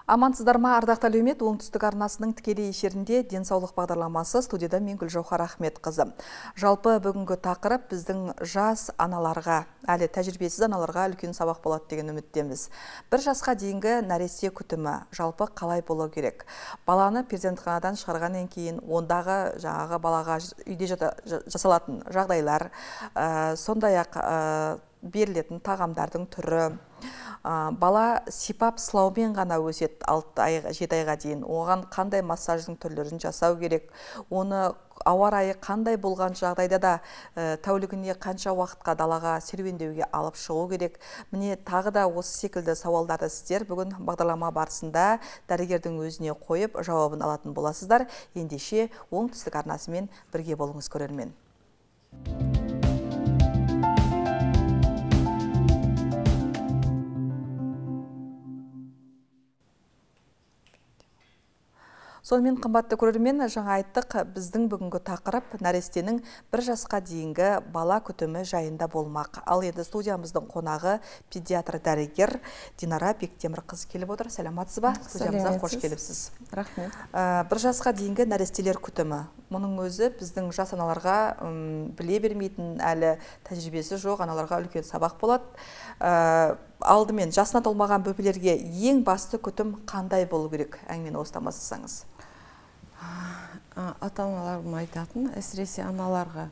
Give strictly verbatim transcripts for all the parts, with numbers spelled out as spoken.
Амансыздар ма, ардақты әлеумет, оңтүстік арнасының тікелей эфирінде денсаулық бағдарламасы, студияда мен Гүлжауһар Ахметқызы. Жалпы бүгінгі тақырып біздің жас аналарға, әлі тәжірибесіз аналарға үлкен сабақ болады деген үміттеміз. Бір жасқа дейінгі нәресте күтімі жалпы қалай болу керек? Баланы перзентханадан шығарғаннан кейін ондағы жаңағы балаға үйде жасалатын жағдайлар, сондай-ақ берілетін тағамдардың түрі, бала сипап сылаумен ғана өсет алты айға жеті айға дейін. Оған қандай массаждың түрлерін жасау керек? Оны ауа райы қандай болған жағдайда да тәулігіне қанша уақытқа далаға серуендеуге алып шығу керек? Міне тағы да осы секілді сауалдарды сіздер бүгін бағдарлама барысында дәрігердің өзіне қойып жауабын алатын боласыздар. Ендеше оңтүстік арнасымен бірге болыңыз көрермен. Сонымен қымбатты көрермен, жаңа айттық, біздің бүгінгі тақырып нәрестенің бір жасқа дейінгі бала күтімі жайында болмақ. Ал енді студиямыздың қонағы педиатр дәрігер Динара Бектемірқызы келіп отыр. Сәлематсыз ба? Студиямызға қош келіпсіз. Рахмет. Бір жасқа дейінгі нәрестелер күтімі. Мұның өзі біздің жас аналарға біле бермейтін, әлі тәжірибесі жоқ аналарға үлкен сабақ болады. Алдымен жасына толмаған бөпелерге ең басты күтім қандай болу керек? Әңгімені осыдан бастасаңыз. Ата-аналарым айтатын, әсіресе аналарға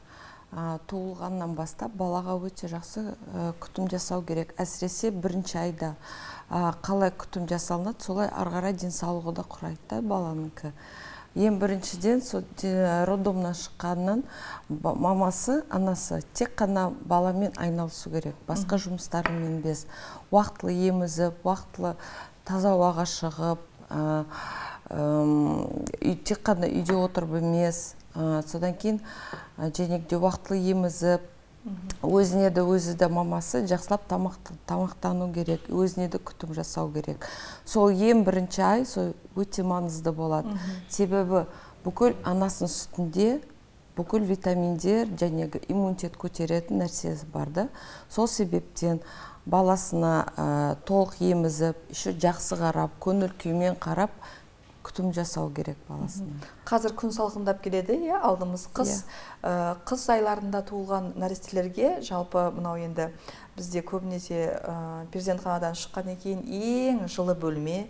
туылғаннан бастап балаға өте жақсы күтім жасау керек. Әсіресе бірінші айда қалай күтім жасалынады, солай арғара денсаулығы да құрайды баланыкі. Ең біріншіден роддомнан шыққаннан мамасы, анасы тек қана баламен айналысу керек. Басқа жұмыстарымен без. Уақытлы емізіп, уақытлы таза ауаға шығып, тек қана үйде отырып емес, содан кейін женегде уақытлы емізіп, өзіне де өзі де мамасы жақсылап тамақтану керек, өзіне де күтім жасау керек. Сол ең бірінші ай өте маңызды болады. Себебі бүкіл анасының сүтінде бүкіл витаминдер және иммунитет көтеретін нәрсесі барды. Сол себептен баласына толық емізіп, жақсы қарап, көңіл күймен қарап, күтім жасау керек баласына. Қазір күн салқындап келеді, алдымыз қыс. Қыс айларында туылған нәрестелерге жалпы мынау енді бізде көбінесе перзентханадан шыққаннан кейін ең жылы бөлме,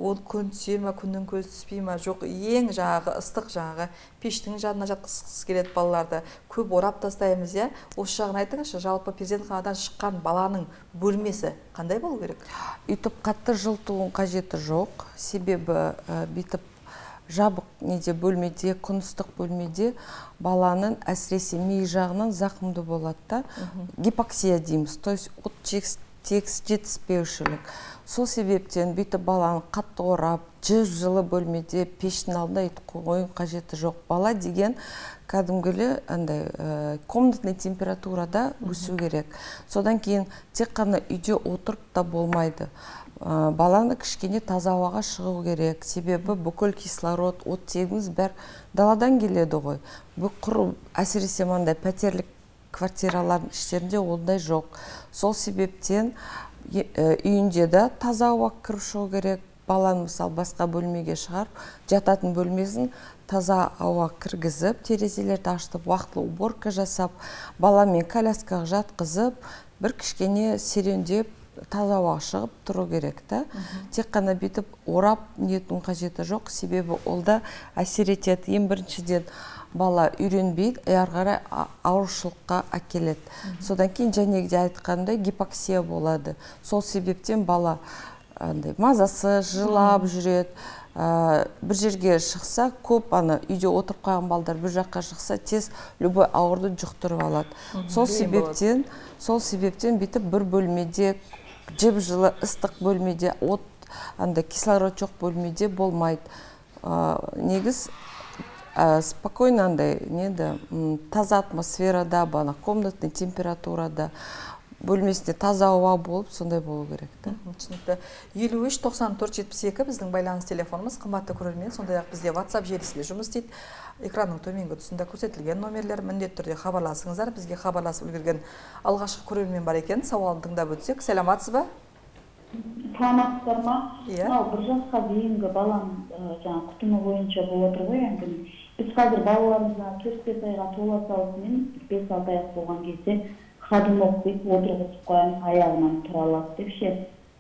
ол күн түсе ме, күннің көзі түспей ме, жоқ, ең жаңағы ыстық жаңағы пештің жанына жатқызғысы келеді балаларды. Көп орап тастаймыз, я? Осы жағын айтыңызшы, жалпы перзентханадан шыққан баланың бөлмесі қандай болу керек? Үйтіп қатты жылытудың қажеті жоқ. Себебі бүйтіп жабық неде бөлмеде, күн ыстық бөлмеде баланың әсіресе ми жағынан зақымды болады да. Гипоксия дейміз, то есть от тегіс жетіспеушілік. Сол себептен бүйтіп баланы қатты орап, жып жылы бөлмеде пештің алдында қойын қажеті жоқ. Бала деген кәдімгілі комнатный температурада өсу керек. Содан кейін тек қана үйде отырып та болмайды. Баланы кішкене таза ауаға шығу керек. Себебі бүкіл кислород, оттегіміз бәр даладан келеді ғой. Бұл әсіресе маңдай пәтерлік квартиралардың іштерінде ондай жоқ. Сол себептен үйінде де таза ауа кіріп шығу керек. Баланы мысалы басқа бөлмеге шығарып, жататын бөлмесін таза ауа кіргізіп, терезелерді ашытып, уақытлы уборка жасап, баламен коляскаға жатқызып, бір кішкене серуендеп, таза ауа шығып тұру керек та. Тек қана бүйтіп орап нетудің қажеті жоқ, себебі олда әсер етеді. Ең біріншіден бала үйренбейді, ары қарай аурушылыққа әкеледі. Содан кейін жәнегіде айтқандай гипоксия болады. Сол себептен бала мазасы жылап жүреді. Бір жерге шықса, көп ана үйде отырып қалған балдар бір жаққа шықса, тез любой ауырды жұқтырып алады. Сол себептен, сол себептен бүйтіп бір бөлмеде, жып жылы ыстық бөлмеде, от, анда кислород жоқ бөлмеде болмайды. Негіз спокойно андай, таза атмосферада, бана комнатный температурада, бөлмесінде таза ауа болып, сондай болу керек. Түсінікті. елу үш тоқсан төрт жетпіс екі біздің байланыс телефонымыз, қымбатты көрермен, сондай-ақ бізде WhatsApp желісінде жұмыс істейді. Экранның төменгі тұсында көрсетілген номерлер, міндетті түрде хабарласыңыздар. Бізге хабарласып үлгерген алғашқы көрермен бар екен. Сауалын тыңдап өтсек. Сәлематсыз ба? саламатсыздар ма? Мынау бір жасқа дейінгі баланың жаңа күтімі бойынша болып отыр ғой енді. Біз қазір балаларымызға төрт бес айға тола салысымен бес алты айлық болған кезде ходунок деп отырғызып қоямыз, аяғынан тұра алады деп ше.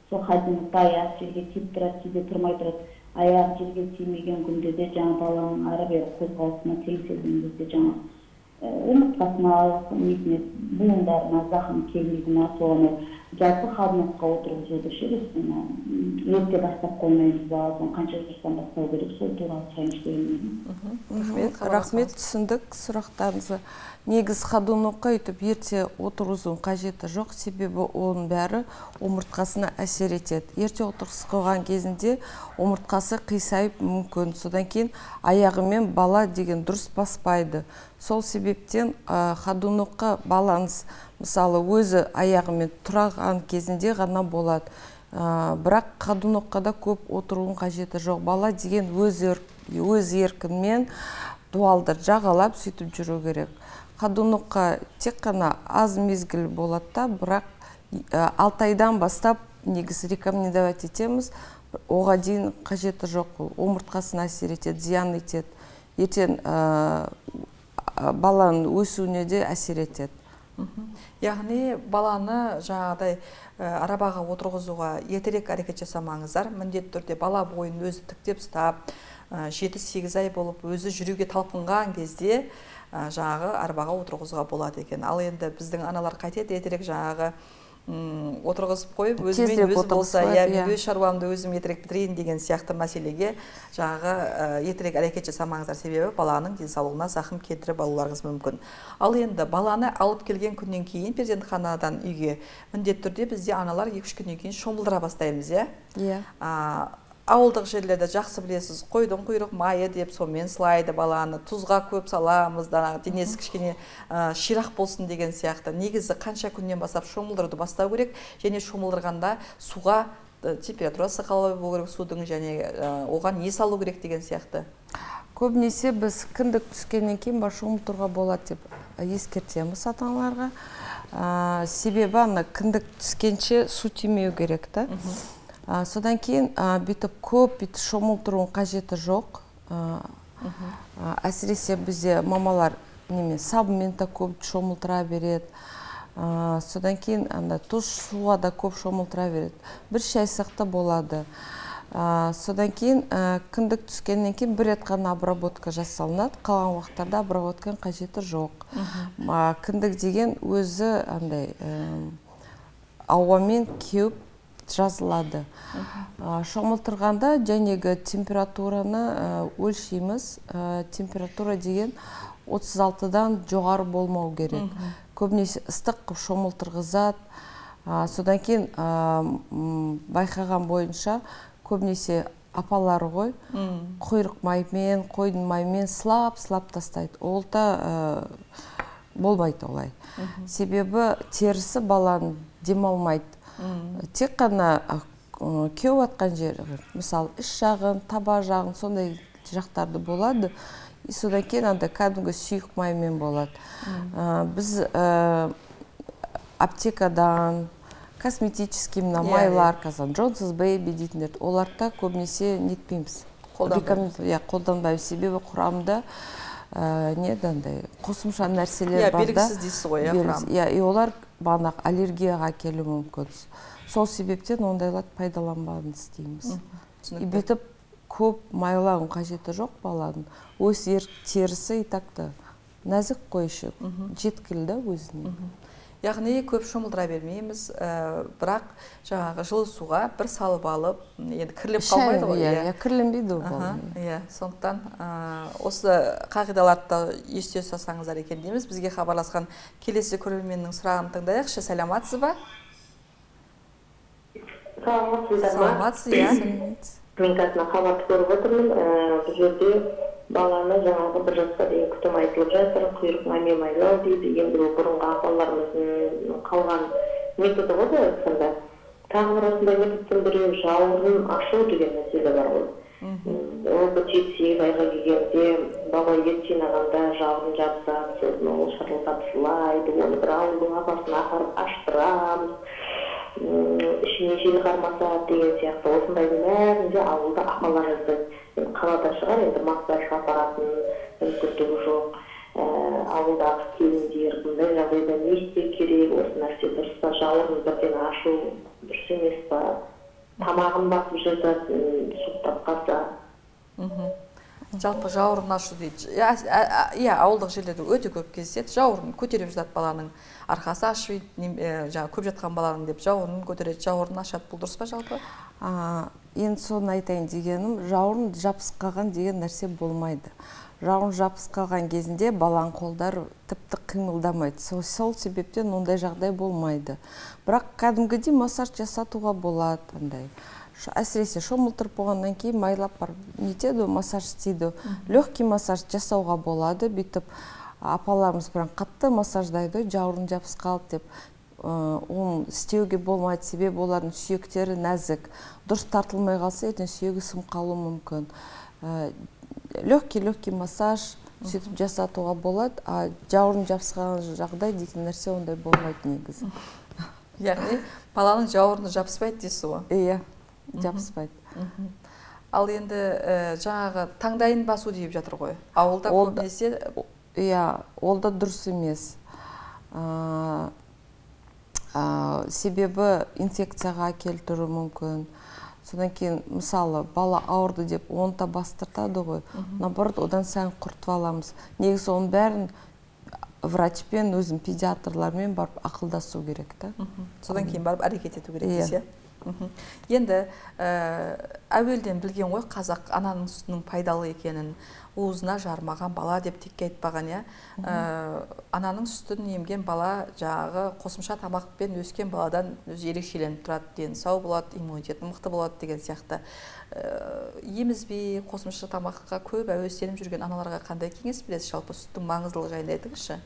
Сол ходунокты аяқ жерге тиіп тұрады, кейде тұрмай тұрады. Аяқ жерге тимеген күнде де жаңа баланың ары бері қозғалысына теңселген кезде жаңа омыртқасына, несіне, буындарына зақым келмейді ма, соны жалпы ходунокқа отырғызуды ше, ерте бастап қоймаймыз ба, соны қанша жастан бастау керек, сол туралы сұрайыншы деймін. Рахмет, түсіндік сұрақтарыңызды. Негіз ходунокқа өйтіп ерте отырғызудың қажеті жоқ, себебі оның бәрі омыртқасына әсер етеді. Ерте отырғызып қойған кезінде омыртқасы қисайып мүмкін, содан кейін аяғымен бала деген дұрыс баспайды. Сол себептен ходунокқа балаңыз мысалы өзі аяғымен тұрған кезінде ғана болады. Бірақ ходунокқа да көп отырудың қажеті жоқ. Бала деген өз еркінмен дуалды жағалап сөйтіп жүру керек. Ходунокқа тек қана аз мезгіл болады да, бірақ алты айдан бастап негізі рекомендовать етеміз. Оға дейін қажеті жоқ, омыртқасына әсер етеді, зиян етеді. Ертең баланың өсуіне де әсер етеді. Яғни баланы жаңағыдай арабаға отырғызуға ертерек әрекет жасамаңыздар. Міндетті түрде бала бойын өзі тіктеп ұстап, жеті сегіз ай болып өзі жүруге талпынған кезде жаңағы арбаға отырғызуға болады екен. Ал енді біздің аналар қайтеді, ертерек жаңағы отырғызып қойып, өзімен өз болса, өз шаруамды өзім ертерек бітірейін деген сияқты мәселеге жаңағы ертерек әрекет жасамаңыздар, себебі баланың денсаулығына зақым келтіріп алуларыңыз мүмкін. Ал енді баланы алып келген күннен кейін перзентханадан үйге міндетті түрде бізде аналар екі үш күннен кейін шомылдыра бастаймыз, иә? Ауылдық жерлерде жақсы білесіз, қойдың құйрық майы деп сонымен сылайды баланы, тұзға көп саламыз, денесі кішкене ширақ болсын деген сияқты. Негізі қанша күннен бастап шомылдыруды бастау керек, және шомылдырғанда суға температурасы қалай болу керек судың, және оған не салу керек деген сияқты. Көбінесе біз кіндік түскеннен кейін шомылдыруға болады деп ескертеміз ата-аналарға. Себебі ана кіндік түскенше су тимеу керек та. Содан кейін бүйтіп көп бүйтіп шомылдырудың қажеті жоқ. Әсіресе бізде мамалар сабынмен де көп шомылдыра береді. Содан кейін тұз суға да көп шомылдыра береді. Бір шайсақты болады. Содан кейін кіндік түскеннен кейін бір рет қана обработка жасалынады. Қалған уақыттарда обработканың қажеті жоқ. Кіндік деген өзі ауамен кеуіп жазылады. Шомылдырғанда жәнегі температураны өлшейміз. Температура деген отыз алтыдан жоғары болмау керек. Көбінесе ыстық шомылдырғызады. Содан кейін байқаған бойынша көбінесе апалары ғой, құйрық маймен, қойдың маймен сылап-сылап тастайды. Ол да болмайды олай. Себебі терісі баланы демалмайды. Тек қана кеуіп атқан жер, мысалы, іш жағын, таба жағын, сондай жақтарды болады. Содан кейін кәдімгі сүйік маймен болады. Біз аптекадан, косметический майлар, Джонсонс Бэйби дейтіндер, оларда көбінесе нетпейміз. Қолданбаймыз, себебі құрамында қосымша нәрселер бар да. Белгісіз дейсіз ғой, құрам. И олар бағанақ аллергияға келу мүмкін. Сол себептен ондайларды пайдаланбаңыз дейміз. И бүйтіп көп майлауын қажеті жоқ баланың. Өз терісі итақты нәзік қойшы, жеткілді өзіне. Яғни көп шомылдыра бермейміз, бірақ жаңағы жылы суға бір салып алып, енді кіріліп қалмайды ғой. Иә, кірленбейді ол. Иә, сондықтан осы қағидаларды есте ұстасаңыздар екен дейміз. Бізге хабарласқан келесі көрерменнің сұрағын тыңдайықшы. Саламатсыз ба? Саламатсыздар ма? Саламатсыз, иә. Мен қасына хабарды көріп отырмын. Бұл жерде баланы жаңағы бір жасқа дейін күтім айтылып жатыр, құйрық маймен майлау дейді. Енді бұрынғы апаларымыздың қалған методы ғой былай айтқанда. Тағы бір осындай методтың біреу жауырын ашу деген мәселе бар ғой. Ол жеті сегіз айға келгенде бала ет жинағанда жауырын жапсақ, сосын ол шырылдап сылайды, оны бір ауылдың апасына апарып аштырамыз. ишине жел кармаса деген сыяктуу осундайдын баарин ауылда апалар жасайт. Калада шығар, енді массажға апаратын мүмкіндігі жоқ. Ауылдағы келіндер бұндай жағдайда не істеу керек, осы нәрсе дұрыс па, жауырын бірден ашу дұрыс емес па, тамағын басып жататын, суықтап қалса. Жалпы жауырын ашу дейді. Иә, ауылдық жерлерде өте көп кездеседі. Жауырын көтеріп жатады баланың, арқасы ашып, көп жатқан баланың деп жауырын көтереді, жауырын ашады. Бұл дұрыс па жалпы? Енді соны айтайын дегенім, жауырын жабысып қалған деген нәрсе болмайды. Жауырын жабысып қалған кезінде баланың қолдары тіпті қимылдамайды. Сол себептен ондай жағдай болмайды. Бірақ кәдімгідей массаж жасатуға болады андай. Әсіресе шомылтырып болғаннан кейін майлап бар нетеді, массаж істейді. Легкий массаж жасауға болады. Бүйтіп апаларымыз бірақ қатты массаждайды, жауырын жабысып қалды деп. Оны істеуге болмайды, себебі олардың сүйектері нәзік. Дұрыс тартылмай қалса, ертең сүйегі сынып қалуы мүмкін. Легкий-легкий массаж сөйтіп жасатуға болады, а жауырын жабысқан жағдай дейтін нәрсе ондай болмайды негізі. Яғни баланың жауырыны жабыспайды дейсіз ғой? Иә, жабыспайды. Ал енді жаңағы таңдайын басу deyip жатыр ғой. Ауылда көбінесе? Иә, ол да дұрыс емес. Себебі инфекцияға келтіру мүмкін. Содан кейін, мысалы, бала ауырды деп оны да бастыртады ғой. Наоборот, одан сайын құртып аламыз. Негізі оның бәрін врачпен, өзім педиатрлармен барып ақылдасу керек. Содан кейін барып әрекет ету керек десе. Енді әуелден білген ғой қазақ ананың сүтінің пайдалы екенін, уызына жармаған бала деп текке айтпаған, ананың сүтін емген бала жағы қосымша тамақпен өскен баладан өзі ерекшеленіп тұрады, дені сау болады, иммунитеті мықты болады деген сияқты. Емізбей қосымша тамаққа көп әуестеніп жүрген аналарға қандай кеңес бересіз? Жалпы сүттің маңыздылығы жайында айтыңызшы.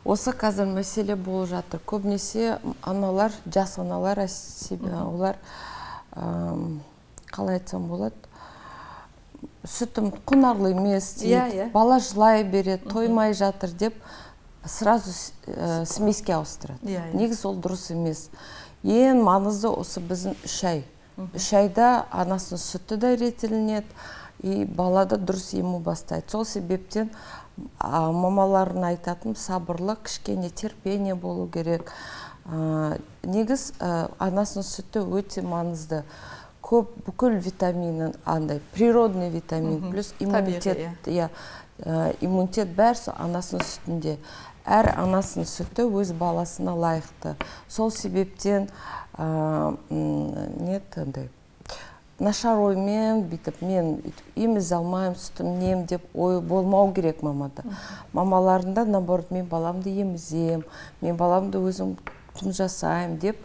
Осы қазір мәселе болып жатыр. Көбінесе аналар, жас аналар, олар қалай айтсам болады, сүтім құнарлы емес дейді, бала жылай береді, тоймай жатыр деп сразу смеске ауыстырады. Негізі ол дұрыс емес. Ең маңызды осы біздің үш ай. Үш айда анасының сүті де ретілінеді, и балада дұрыс ему бастайды. Сол себептен мамаларын айтатын сабырлы, кішкене терпение болу керек. Негіз анасының сүті өте маңызды. Көп бүкіл витаминін андай, природный витамин, плюс иммунитет, иммунитет бәрі анасының сүтінде. Әр анасының сүті өз баласына лайықты. Сол себептен нет андай, нашар оймен бүйтіп мен еміз алмайым, сүтім нем деп ой болмау керек мамада. Мамаларында, наоборот, мен баламды емізем, мен баламды өзім күтім жасайым деп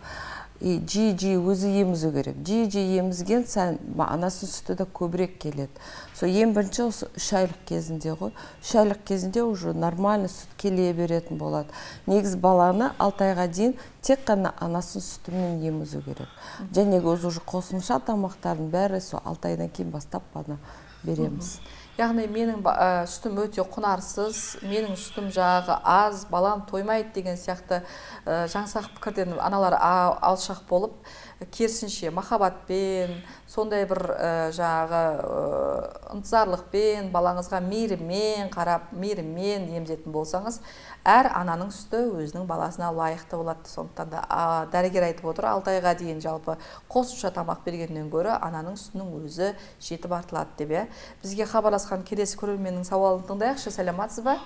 жи-жи өзі емізу керек. Жи-жи емізген сән анасының сүті де көбірек келеді. Со ең бірінші осы үш айлық кезінде ғой. Үш айлық кезінде уже нормальный сүт келе беретін болады. Негіз баланы алты айға дейін тек қана анасының сүтімен емізу керек. Және өзі уже қосымша тамақтардың бәрі со алты айдан кейін бастап бана береміз. Яғни менің сүтім өте құнарсыз, менің сүтім жағы аз, балам тоймайды деген сияқты жаңсақ пікірден аналар алшақ болып, керісінше махаббатпен, сондай бір жағы ынтызарлықпен, балаңызға мейіріммен қарап, мейіріммен емізетін болсаңыз, әр ананың сүті өзінің баласына лайықты болады. Сондықтан да дәрігер айтып отыр, алты айға дейін жалпы қосымша тамақ бергеннен гөрі ананың сүтінің өзі жетіп артылады деп. Бізге хабарласқан келесі көрерменнің сауалын тыңдайықшы. Сәлематсыз ба?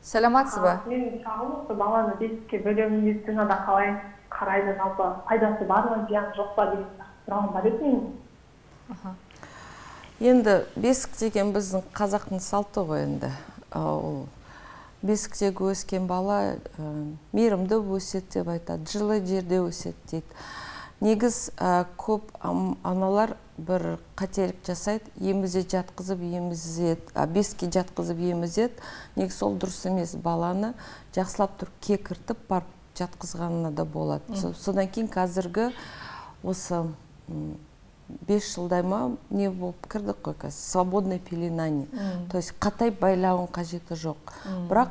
Сәлематсыз ба? Мен сағылықты баланы бесікке бөлем медицинада қалай қарайды, жалпы пайдасы бар ма, зияны жоқ па деген сұрағым бар еді. Енді бесік деген біздің қазақтың салты ғой енді. Бесіктегі өскен бала мейірімді өседі деп айтады, жылы жерде өседі дейді. Негіз көп аналар бір қателік жасайды, емізе жатқызып емізеді, бесікке жатқызып емізеді. Негіз ол дұрыс емес, баланы жақсылап тұрып кекіртіп барып жатқызғанына да болады. Содан кейін қазіргі осы бес жылдай ма не болып кірдік қой, свободное пеленание. То есть қатай байлауын қажеті жоқ. Бірақ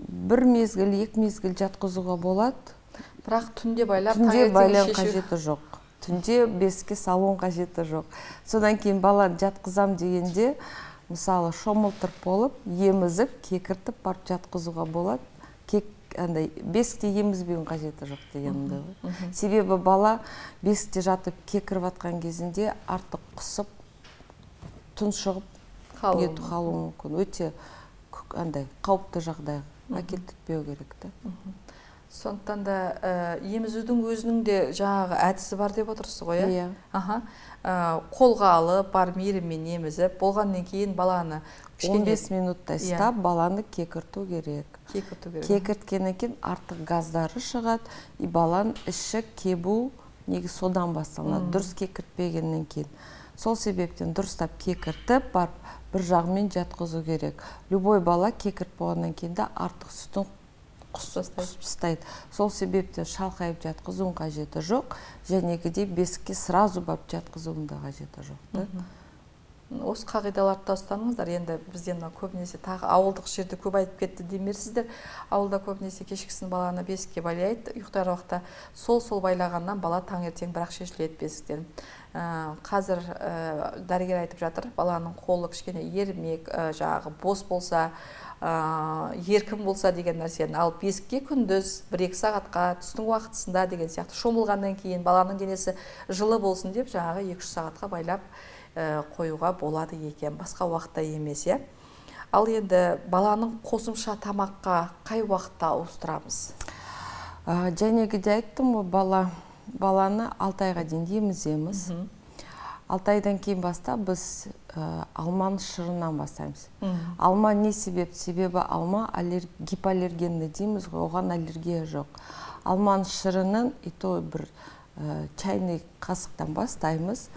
бір мезгіл, екі мезгіл жатқызуға болады. Бірақ түнде байлап түнде таңертең байлау шешу. қажеті жоқ. Түнде беске салуын қажеті жоқ. Содан кейін баланы жатқызам дегенде, мысалы шомылтырып болып, емізіп, кекіртіп барып жатқызуға болады. Кек андай бесікте емізбеуін қажеті жоқ дегенімді ғой. Себебі бала бесікте жатып кекіріп атқан кезінде артық құсып, тұншығып кету қалуы мүмкін. Өте андай қауіпті жағдай әкелтіппеу керек та. Сондықтан да емізудің өзінің де жаңағы әдісі бар деп отырсыз ғой, иә? Аха. Қолға алып, бар мейіріммен емізіп, болғаннан кейін баланы он бес минутта ұстап, баланы кекірту керек. Кекірту керек. Кекірткеннен кейін артық газдары шығады, и баланың іші кебу негізі содан басталады, дұрыс кекіртпегеннен кейін. Сол себептен дұрыстап кекіртіп, барып бір жағымен жатқызу керек. Любой бала кекірт болғаннан кейін де артық сүтін құстайды. Сол себептен шалқайып жатқызуын қажеті жоқ, жәнегідей бесікке сразу барып жатқызуын да қажеті жоқ. Осы қағидаларды ұстаныңыздар. Енді бізден көбінесе тағы ауылдық жерде көп айтып кетті демерсіздер. Ауылда көбінесе кешкісін баланы бесікке байлайды, ұйықтар уақытта сол-сол байлағаннан бала таңертең бірақ шешіледі бесіктен. Қазір дәрігер айтып жатыр, баланың қолы кішкене ермек, жағы бос болса, еркін болса деген нәрсені, ал бесікке күндіз бір-екі сағатқа түстің уақытысында деген сияқты шомылғаннан кейін баланың денесі жылы болсын деп жаңағы екі-үш сағатқа байлап қоюға болады екен, басқа уақытта емес. Ал енді баланың қосымша тамаққа қай уақытта ауыстырамыз? Жәнегіде айттым ғой, бала баланы алты айға дейін еміземіз. алты айдан кейін бастап біз алманың шырынан бастаймыз. Алма не себеп? Себебі алма гипоаллергенді дейміз ғой, оған аллергия жоқ. Алманың шырының и то бір чайный қасықтан бастаймыз.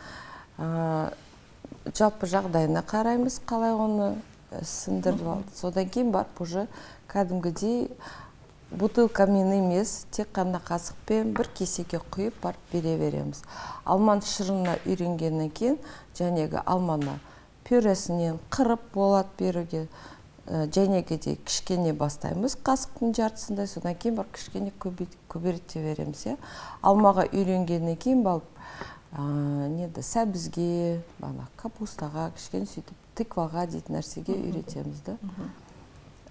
Жалпы жағдайына қараймыз, қалай оны сындырып алды. Содан кейін барып уже кәдімгідей бутылкамен емес, тек қана қасықпен бір кесеге құйып барып бере береміз. Алманың шырына үйренгеннен кейін, жәнегі алманы пюресінен қырып болады беруге, жәнегідей кішкене бастаймыз қасықтың жартысында, содан кейін барып кішкене көберте береміз. Алмаға үйренгеннен кейін барып сәбізге, капустаға, кішкене сөйтіп тыкваға дейтін нәрсеге үйретеміз.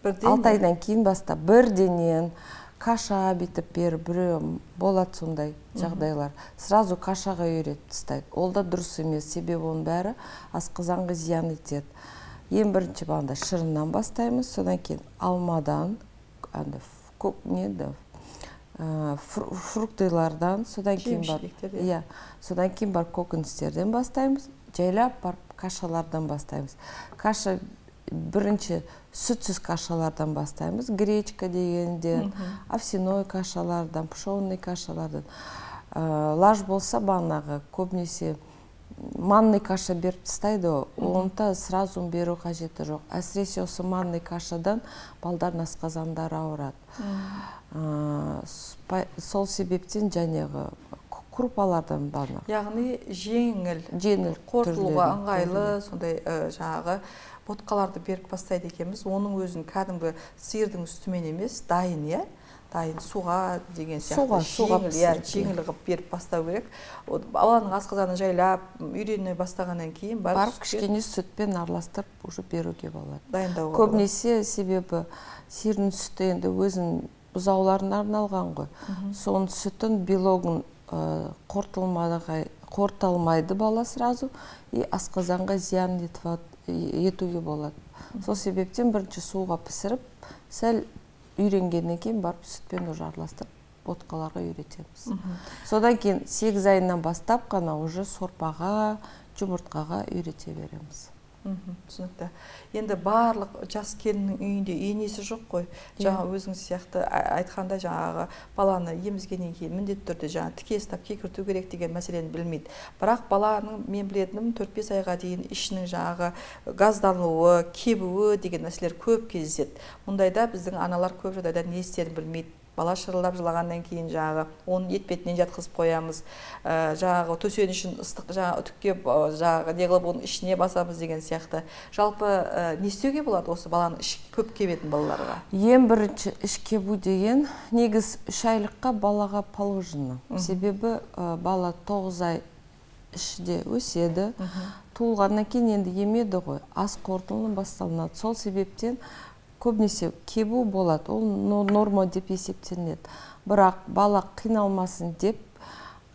алты айдан кейін бастап бірденен каша бітіп беріп, біреу болады сондай жағдайлар. Сразу кашаға үйретіп тастайды. Ол да дұрыс емес, себебі оның бәрі асқазанға зиян етеді. Ең бірінші бағында шырыннан бастаймыз, содан кейін алмадан, фруктылардан, содан кейін бар, содан кейін бар көкөністерден бастаймыз, жайлап барып кашалардан бастаймыз. Каша бірінші сүтсіз кашалардан бастаймыз, гречка дегенде, овсяной кашалардан, пшенный кашалардан. Лаж болса бағанағы көбінесе манный каша беріп тастайды, онда сразу беру қажеті жоқ. Әсіресе осы манный кашадан балдардың асқазандары ауырады. Сол себептен жәнегі крупалардан бағанағы. Яғни жеңіл, жеңіл қорытылуға ыңғайлы, сондай жаңағы ботқаларды беріп бастайды екенбіз. Оның өзін кәдімгі сиырдың үстімен емес, дайын, е? Дайын суға деген сияқты жеңіл ғып беріп бастау керек. Баланың асқазаны жайлап, үйрене бастағаннан кейін барып кішкене сүтпен араластырып уже беруге болады. Дайындауға. Көбінесе себебі сиырдың сүті енді өзін бұзауларына арналған ғой. Соның сүтін белогын қорытылмайды бала сразу, и асқазанға зиян етуге болады. Сол себептен бірінші суға пісіріп, сәл үйренгеннен кейін барып сүтпен уже араластырып ботқаларға үйретеміз. Содан кейін сегіз айынан бастап қана уже сорпаға, жұмыртқаға үйрете береміз. Түсінікті. Енді барлық жас келіннің үйінде енесі жоқ қой. Жаңа өзіңіз сияқты айтқанда жаңағы баланы емізгеннен кейін міндетті түрде жаңа тіке ұстап кекірту керек деген мәселені білмейді. Бірақ баланың мен білетінім төрт-бес айға дейін ішінің жаңағы газдануы, кебуі деген нәрселер көп кездеседі. Мұндайда біздің аналар көп жағдайда не істерін білмейді. бала шырылдап жылағаннан кейін жаңағы оның етпетінен жатқызып қоямыз, жаңағы төсенішін ыстық жаңағы үтіктеп жаңағы не қылып оның ішіне басамыз деген сияқты. Жалпы не істеуге болады осы баланы іш көп кебетін балаларға? Ең бірінші іш кебу деген негіз үш айлыққа балаға положено. Себебі бала тоғыз ай ішінде өседі, туылғаннан кейін енді емеді ғой, ас қорытылымы басталынады. Сол себептен көбінесе кебу болады, ол норма деп есептелінеді. Бірақ бала қиналмасын деп,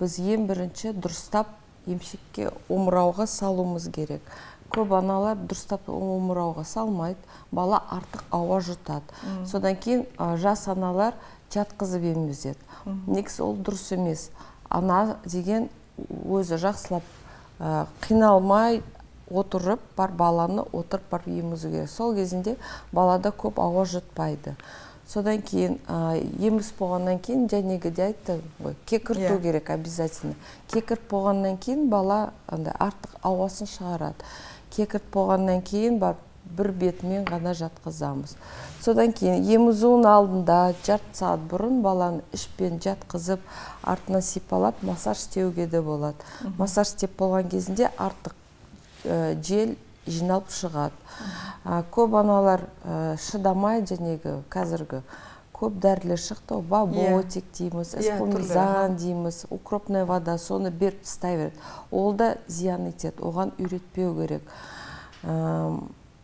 біз ең бірінші дұрыстап емшекке омырауға салуымыз керек. Көп аналар дұрыстап омырауға салмайды, бала артық ауа жұтады. Содан кейін жас аналар жатқызып емізеді. Негізі ол дұрыс емес. Ана деген өзі жақсылап қиналмай отырып, бар баланы отырып бар емізу керек. Сол кезінде балада көп ауа жұтпайды. Содан кейін еміз болғаннан кейін жәнегі де айтты ғой, кекірту керек обязательно. Кекірт болғаннан кейін бала артық ауасын шығарады. Кекірт болғаннан кейін бар бір бетімен ғана жатқызамыз. Содан кейін емізудің алдында жарты сағат бұрын баланы ішпен жатқызып, артынан сипалап массаж істеуге де болады. Массаж істеп болған кезінде артық жел жиналып шығады. Көп аналар шыдамай жәнегі қазіргі көп дәрілер шықты, баботик дейміз, эспомизан дейміз, укропная вода, соны беріп тастай береді. Ол да зиян етеді, оған үйретпеу керек.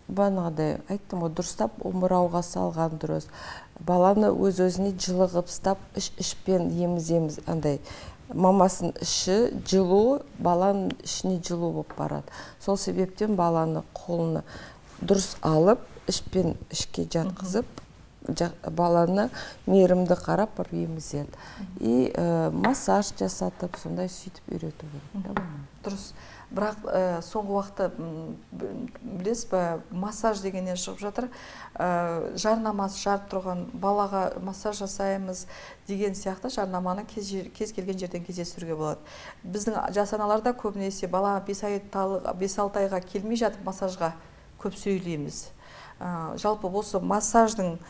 Бағанағыдай айттым ғой, дұрыстап омырауға салған дұрыс. Баланы өз-өзіне жылығып ұстап, іш-ішпен еміземіз, андай мамасын іші жылу, баланың ішіне жылу болып барады. Сол себептен баланы қолына дұрыс алып, ішпен ішке жатқызып, баланы мейірімді қарап бір емізеді. И массаж жасатып, сондай сөйтіп үйрету керек. Дұрыс. Бірақ соңғы уақытта білесіз бе, массаж дегеннен шығып жатыр, жарнамасы жарып тұрған балаға массаж жасаймыз деген сияқты жарнаманы кез келген жерден кездестіруге болады. Біздің жас аналарда көбінесе бала бес алты айға келмей жатып массажға көп сөйлейміз. Жалпы осы массаждың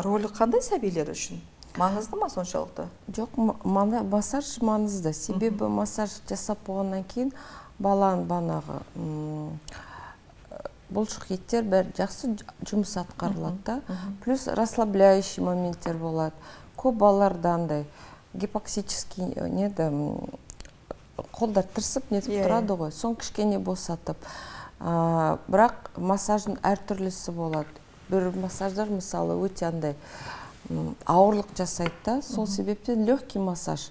рөлі қандай сәбилер үшін? Маңызды ма соншалықты? Жоқ, массаж маңызды. Себебі массаж жасап болғаннан кейін баланың банағы бұлшық еттер бәр жақсы жұмыс атқарылады. Плюс расслабляющий моменттер болады. Көп балаларда андай гипоксический неді, қолдар тырсып нетіп тұрады ғой, соң кішкене босатып. Бірақ массаждың әртүрлісі болады. Бір массаждар мысалы өте андай ауырлық жасайды, сол себептен легкий массаж.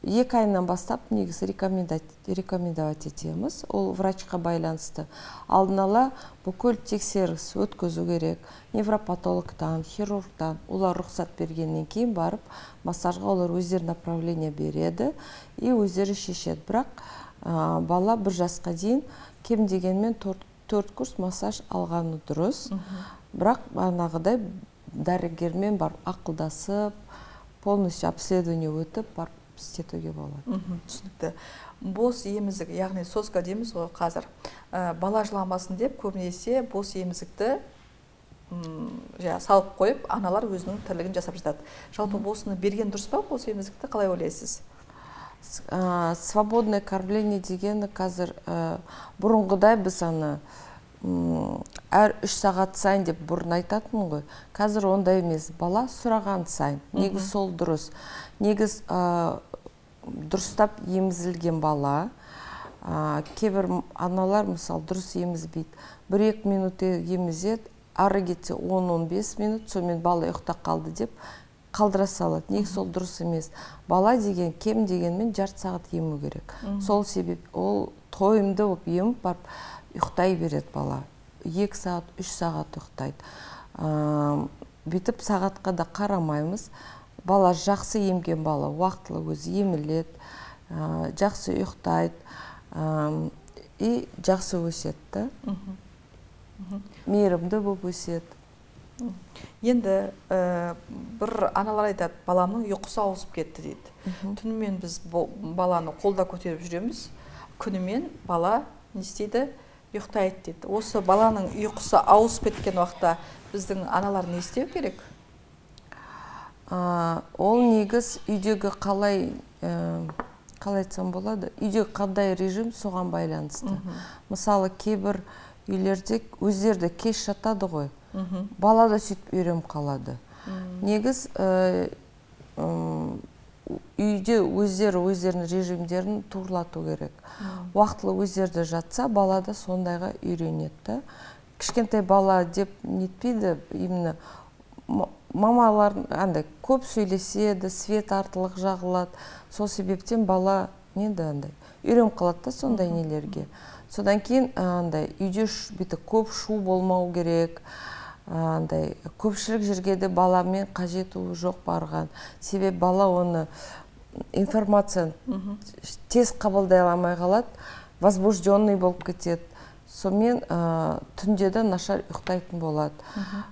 Екі айынан бастап негізі рекомендовать етеміз. Ол врачқа байланысты. Алдын ала бүкіл тексеріс өткізу керек. Невропатологтан, хирургтан, олар рұқсат бергеннен кейін барып, массажға олар өздері направление береді и өздері шешеді. Бірақ бала бір жасқа дейін кем дегенмен төрт курс массаж алғаны дұрыс. Бірақ анағыдай дәрігермен барып ақылдасып, полностью обследование өтіп барып істетуге болады. Түсінікті. Бос емізік, яғни соска дейміз ғой қазір. Бала жыламасын деп көбінесе бос емізікті салып қойып, аналар өзінің тірлігін жасап жатады. Жалпы босыны берген дұрыс па, бос емізікті қалай ойлайсыз? Свободное кормление дегені қазір бұрынғыдай біз аны әр үш сағат сайын деп бұрын айтатын ғой. Қазір ондай емес. Бала сұраған сайын. Негіз сол дұрыс. Негіз дұрыстап емізілген бала. Кейбір аналар мысалы дұрыс емізбейді. бір-екі минут емізеді, ары кетсе он он бес минут, сонымен бала ұйықтап қалды деп қалдыра салады. Негіз сол дұрыс емес. Бала деген кем дегенмен жарты сағат ему керек. Сол себеп ол тойымды болып еміп барып ұйықтай береді бала. екі сағат, үш сағат ұйықтайды. Бүйтіп сағатқа да қарамаймыз. Бала жақсы емген бала, уақытылы өзі еміледі, жақсы ұйықтайды и жақсы өседі. Мейірімді болып өседі. Енді бір аналар айтады, баламның ұйқысы ауысып кетті дейді. Түнімен біз баланы қолда көтеріп жүреміз, күнімен бала не істейді? Ұйықтайды дейді. Осы баланың ұйқысы ауысып кеткен уақытта біздің аналар не істеу керек? Ол негіз үйдегі қалай, қалай айтсам болады, үйдегі қандай режим соған байланысты. Мысалы, кейбір үйлерде өздерді кеш жатады ғой, бала да сөйтіп үйреніп қалады. Негіз үйде өздері өздерінің режимдерін турлату керек. Уақытылы өздерді жатса, бала да сондайға үйренеді. Кішкентай бала деп нетпейді, именно мамалар андай көп сөйлеседі, свет артылық жағылады. Сол себептен бала неді андай үйреніп қалады да сондай нелерге. Содан кейін андай үйде бүйтіп көп шу болмау керек. Андай көпшілік жерге де баламен қажеті жоқ барған. Себебі бала оны информацияны тез қабылдай алмай қалады, возбужденный болып кетеді. Сонымен түнде де нашар ұйықтайтын болады.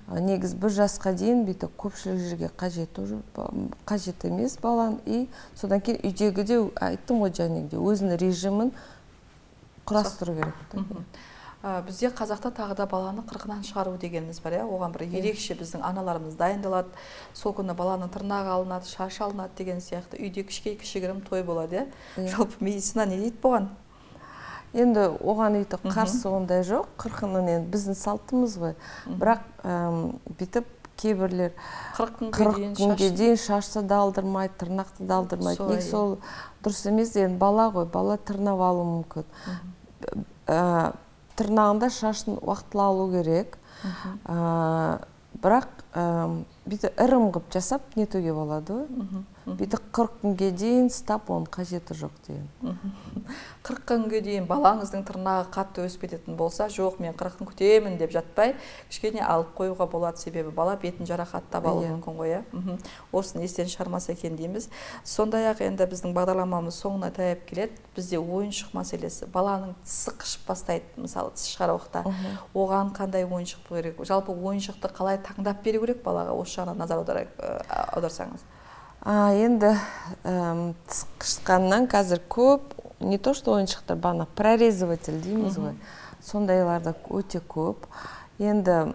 Негіз бір жасқа дейін бүйтіп көпшілік жерге қажет емес балан. И содан кейін үйдегі де айттым ғой жәнегіде өзінің режимін құрастыру керек. Бізде қазақта тағы да баланы қырқынан шығару дегеніміз бар, оған бір ерекше біздің аналарымыз дайындалады, сол күні баланың тырнағы алынады, шашы алынады деген сияқты үйде кішігірім той болады. Жалпы медицина не дейді бұған? Енді оған үйті қарсы ондай жоқ, қырқынан біздің салтымыз ғой. Бірақ бүйтіп кейбірлер қырық күнге дейін шашты да алдырмайды, тырнақты да алдырмайды. Нек сол дұрыс емес, бала ғой, бала тырнап алу мүмкін. Тырнағында шашын уақытылы алу керек. Бірақ бүйтіп ірім ғып жасап нетуге болады. Бүйтіп қырық күнге дейін стап оның қажеті жоқ деген. қырық күнге дейін балаңыздың тырнағы қатты өсіп кететін болса, жоқ, мен қырық күн күтемін деп жатпай, кішкене алып қоюға болады, себебі бала бетін жарақаттап алуы мүмкін ғой. Осыны естен шығармаса екен дейміз. Сондай-ақ енді біздің бағдарламамыз соңына таяп келеді. Бізде ойыншық мәселесі. Баланың тісі қышып бастайды, мысалы тіс шығар уақытта. Оған қандай ойыншық керек? Жалпы ойыншықты қалай таңдап беру керек балаға? Осы жағынан назар аударсаңыз. Енді тіс қышқаннан қазір көп, не то что ойыншықтар, бана прорезыватель дейміз ғой. Сондайларда өте көп. Енді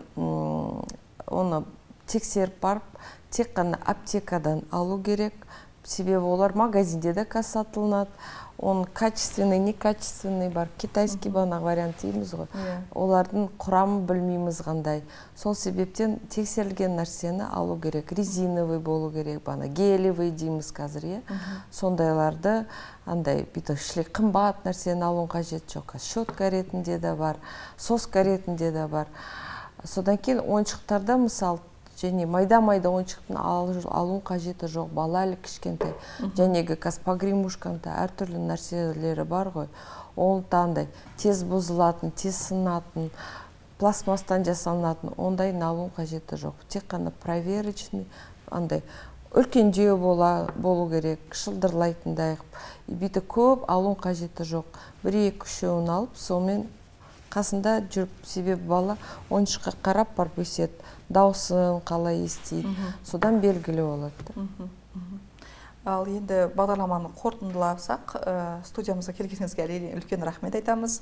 оны тексеріп барып, тек қана аптекадан алу керек. Себебі олар магазинде де сатылынады. Он качественный, некачественный бар. Китайский бана вариант дейміз ғой. Олардың құрамы білмейміз қандай. Сол себептен тексерілген нәрсені алу керек. Резиновый болу керек, бана гелевый дейміз қазір. Сондайларды андай бүйтіп қымбат нәрсені алуын қажет жоқ. Щетка ретінде де бар, соска ретінде де бар. Содан кейін ойыншықтарда мысалы және майда-майда ойыншықтың алуын қажеті жоқ. Бала әлі кішкентай. Жәнегі погремушканда әртүрлі нәрселері бар ғой. Оны таңдай тез бұзылатын, тез сынатын, пластмастан жасалынатын, ондай алуын қажеті жоқ. Тек қана проверочный, андай үлкендеу болу керек, шылдырлайтындай. Бүйтіп көп алуын қажеті жоқ. Бір-екі үшеуін алып, сонымен қасында жүріп, себебі бала ойыншыққа қарап барып өседі. Даусын қалай естейді. Содан белгілі болады. Ал енді бағдарламаны қорытындыласақ, студиямызға келгеніңізге үлкен рахмет айтамыз.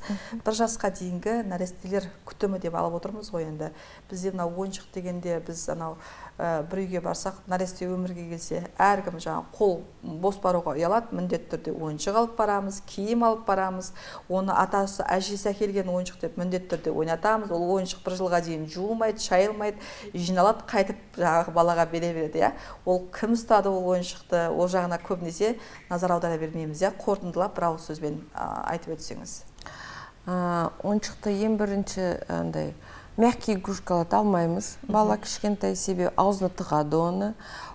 Бір жасқа дейінгі нәрестелер күтімі деп алып отырмыз ғой енді. Бізде мынау ойыншық дегенде біз анау бір үйге барсақ, нәресте өмірге келсе, әркім жаңа қол бос баруға ұялады, міндетті түрде ойыншық алып барамыз, киім алып барамыз. Оны атасы, әжесі әкелген ойыншық деп міндетті түрде ойнатамыз. Ол ойыншық бір жылға дейін жуылмайды, шайылмайды, жиналады, қайтып жаңағы балаға бере береді. Ол кім ұстады ол ойыншықты? Ол жағына көбінесе назар аудара бермейміз. Қорытындылап бір ауыз сөзбен айтып өтсеңіз. Ойыншықты ең бірінші андай мягкий игрушкаларды алмаймыз. Бала кішкентай себебі аузына тығады оны.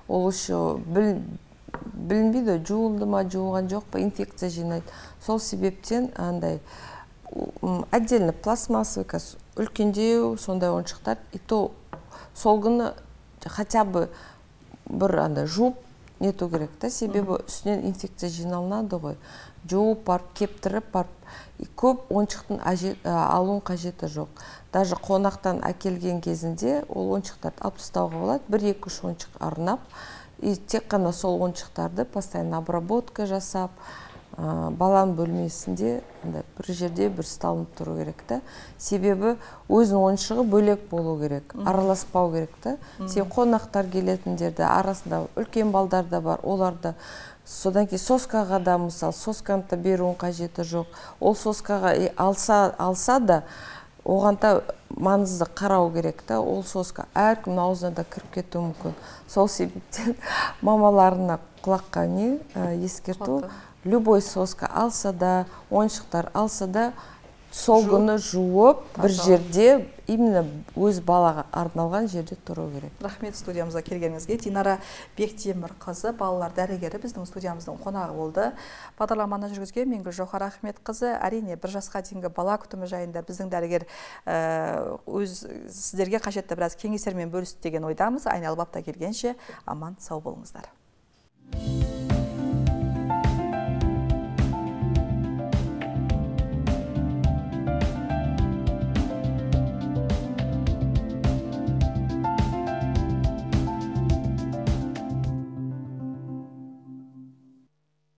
Ол еще білінбейді, жуылды ма, жуылған жоқ па, инфекция жинайды. Сол себептен андай отдельно пластмассовый, үлкендеу, сондай ойыншықтар. И то сол күні хотя бы бір андай жуып нету керек та, себебі үстінен инфекция жиналынады ғой. Жуып барып, кептіріп барып, көп ойыншықтың алуын қажеті жоқ. Даже қонақтан әкелген кезінде ол ойыншықтарды алып тастауға болады, бір-екі үш ойыншық арнап, и тек қана сол ойыншықтарды постоянно обработка жасап, баланың бөлмесінде бір жерде бір сталынып тұру керек та. Себебі өзінің ойыншығы бөлек болу керек, араласпау керек та. Сен қонақтар келетіндерді арасында үлкен балдар да бар, оларды содан кейін соскаға да, мысалы, сосканы да беруін қажеті жоқ. Ол соскаға алса, алса да, оған да маңызды қарау керек та. Ол соска әркімнің аузына да кіріп кетуі мүмкін. Сол себептен мамаларына құлаққа не ескерту, любой соска алса да, ойыншықтар алса да, сол күні жуып, бір жерде, именно өз балаға арналған жерде тұру керек. Рахмет студиямызға келгеніңізге. Динара Бектемір қызы, балалар дәрігері біздің студиямыздың қонағы болды. Бағдарламаны жүргізген мен Гүлжауһар Ахмет қызы. Әрине, бір жасқа дейінгі бала күтімі жайында біздің дәрігер өз сіздерге қажетті біраз кеңестермен бөлісті деген ойдамыз. Айналып апта келгенше аман сау болыңыздар.